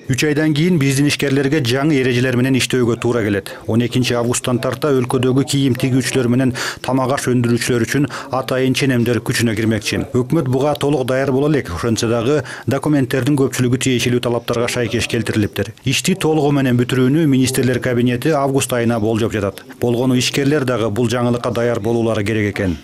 3 айдан кийин биздин ишкерлерге жаңы эрежелер менен иштөөгө туура келет. 12 августтан тарта өлкөдөгү кийим тигүүчүлөр менен тамак аш өндүрүүчүлөр үчүн атайын ченемдер күчүнө кирмекчи. Өкмөт буга толук даяр боло элек, ошентсе дагы документтердин көпчүлүгү тиешелүү талаптарга шайкеш келтирилиптир. Ишти толугу менен бүтүрүүнү министрлер кабинети август айына болжоп жатат. Болгону ишкерлер дагы бул жаңылыкка даяр болуулары керек экен.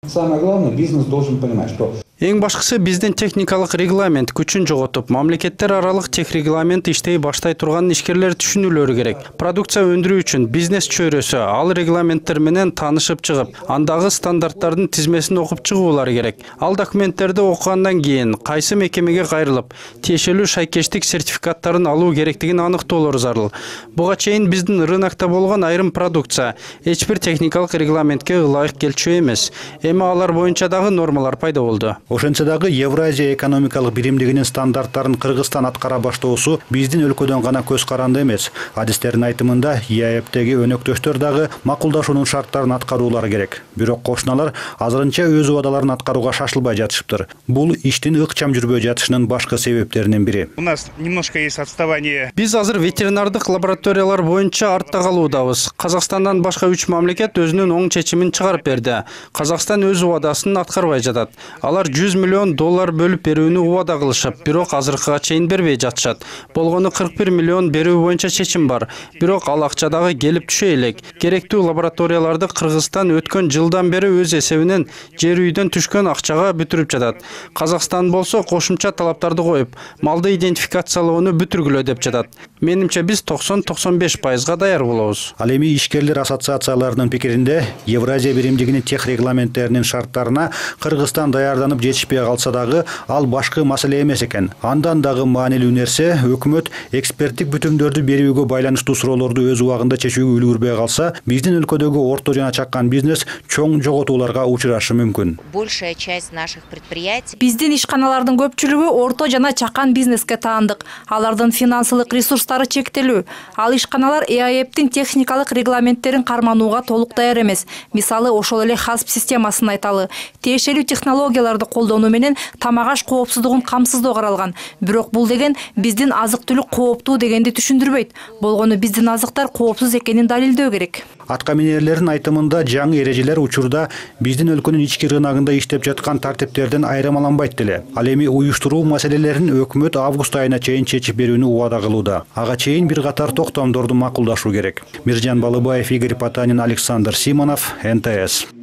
Самое главное, бизнес должен понимать, что Эң башкысы биздин техникалык регламент күчүн жоготуп, мамлекеттер аралык тех регламент иштей баштай турганын ишкерлер түшүнүүлөрү керек. Продукция өндүрүү үчүн бизнес чөйрөсү ал регламенттер менен таанышып чыгып, андагы стандарттардын тизмесин окуп чыгуулары керек. Ал документтерди окугандан кийин кайсы мекемеге кайрылып, тиешелүү шайкештик сертификаттарын алуу керектигин аныктоолор зарыл. Буга чейин биздин рынокто болгон айрым продукция эч бир техникалык регламентке ылайык келчү эмес. Эми алар боюнча дагы нормалар пайда болду. Ошентсе дагы Евразия экономикалык биримдигинин стандарттарын Кыргызстан аткара баштоосу биздин өлкөдөн гана көз каранды эмес. Адистердин айтымында ЕАЭПтеги өнөктөштөр дагы макулдашуунун шарттарын аткаруулары керек. Бирок кошуналар азырынча өз убадаларын аткарууга шашылбай жатышыптыр. Бул иштин ыкчам жүрбөй жатышынын башкы себептеринин бири. У нас немножко есть отставание. Биз азыр ветеринардык лабораториялар боюнча артта калуудабыз. Казакстандан башка 3 мамлекет өзүнүн оң чечимин чыгарып берди. Казакстан өз убадасын аткарбай жатат. Алар $100 миллион бөлүп берүүнү убада кылышып, бирок азыркыга чейин бербей жатышат. Болгону 41 миллион берүү боюнча чечим бар. Бирок ал акча дагы келип түшө элек. Керектүү лабораторияларды Кыргызстан өткөн жылдан бери өз эсебинен жер үйдөн түшкөн акчага бүтүрүп жатат. Казакстан болсо кошумча талаптарды коюп, малды идентификациялоону бүтүргүлө деп жатат. Менимче биз 90-95% даяр болобуз. Ал эми ишкерлер ассоциацияларынын пикиринде Евразия биримдигинин тех регламенттеринин шарттарына Кыргызстан даярданып жетишпей калса дагы ал башкы маселе эмес экен. Андан дагы маанилүү нерсе өкмөт эксперттик бүтүмдөрдү берүүгө байланыштуу суроолорду өз убагында чечүүгө үлгүрбөй калса, биздин өлкөдөгү орто жана чакан бизнес чоң жоготууларга учурашы мүмкүн. Большая часть наших предприятий. Биздин ишканалардын көпчүлүгү орто жана чакан бизнеске таандык. Алардын финансылык ресурстары чектелүү. Ал ишканалар ЕАЭПтин техникалык регламенттерин карманууга толук даяр эмес. Мисалы, ошол эле ХАСП системасын айталы. Тиешелүү технологияларды колдонуу менен тамак аш коопсуздугун камсыздоо каралган. Бирок бул деген биздин азык-түлүк кооптуу дегенди түшүндүрбөйт. Болгону биздин азыктар коопсуз экенин далилдөө керек. Атка минерлердин айтымында жаңы эрежелер учурда биздин өлкөнүн ички рыногунда иштеп жаткан тартиптерден айырмаланбайт деле. Ал эми уюштуруу маселелерин өкмөт август айына чейин чечип берүүнү убада кылууда. Ага чейин бир катар токтомдорду макулдашуу керек. Миржан Балыбаев, Игорь Потанин, Александр Симонов, НТС.